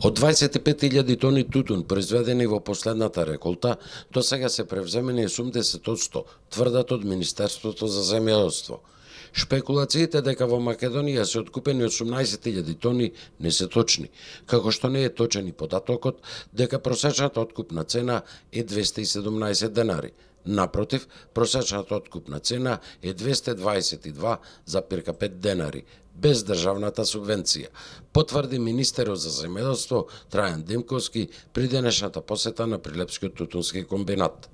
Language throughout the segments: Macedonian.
Од 25.000 тони тутун произведени во последната реколта, до сега се превземени 80%, тврдат од Министерството за земјоделство. Шпекулациите дека во Македонија се откупени 18.000 тони не се точни, како што не е точен и податокот дека просечната откупна цена е 217 денари. Напротив, просечната откупна цена е 222,5 денари, без државната субвенција, потврди министерот за земјоделство Трајан Демковски при денешната посета на Прилепскиот тутунски комбинат.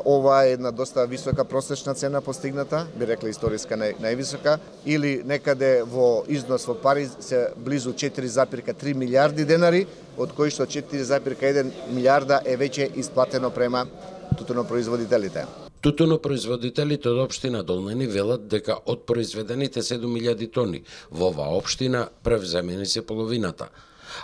Ова е една доста висока просечна цена постигната, би рекла историска највисока, или некаде во износ во пари се близу 4,3 милиарди денари, од кои што 4,1 милиарда е веќе исплатено према тутунопроизводителите. Тутунопроизводителите од општина Долнени велат дека од произведените 7.000 тони во оваа општина превземени се половината,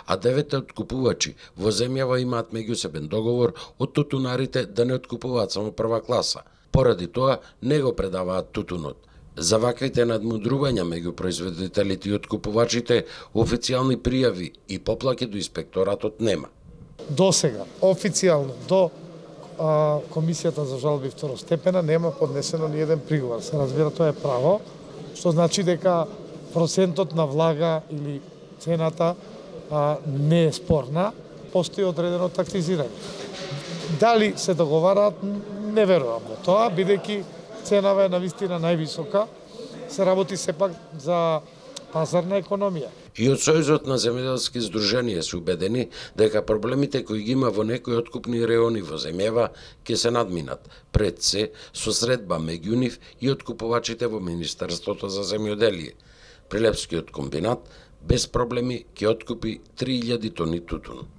а 9 откупувачи во земјава имаат меѓусебен договор од тутунарите да не откупуваат само прва класа. Поради тоа не го предаваат тутунот. За ваквите надмудрувања меѓу производителите и откупувачите официјални пријави и поплаки до инспекторатот нема. До сега, официјално, до Комисијата за жалби второстепена нема поднесено ни еден приговор. Се разбира, тоа е право, што значи дека процентот на влага или цената не е спорна, постои одредено тактизирање. Дали се договараат, не верувам во тоа, бидејќи ценава е навистина највисока, се работи сепак за пазарна економија. И од Сојузот на земјоделски здруженија се убедени дека проблемите кои ги има во некои откупни реони во земјава ќе се надминат, пред се со средба меѓу нив и откупувачите во Министерството за земјоделие. Прилепскиот комбинат без проблеми ќе откупи 3.000 тони тутун.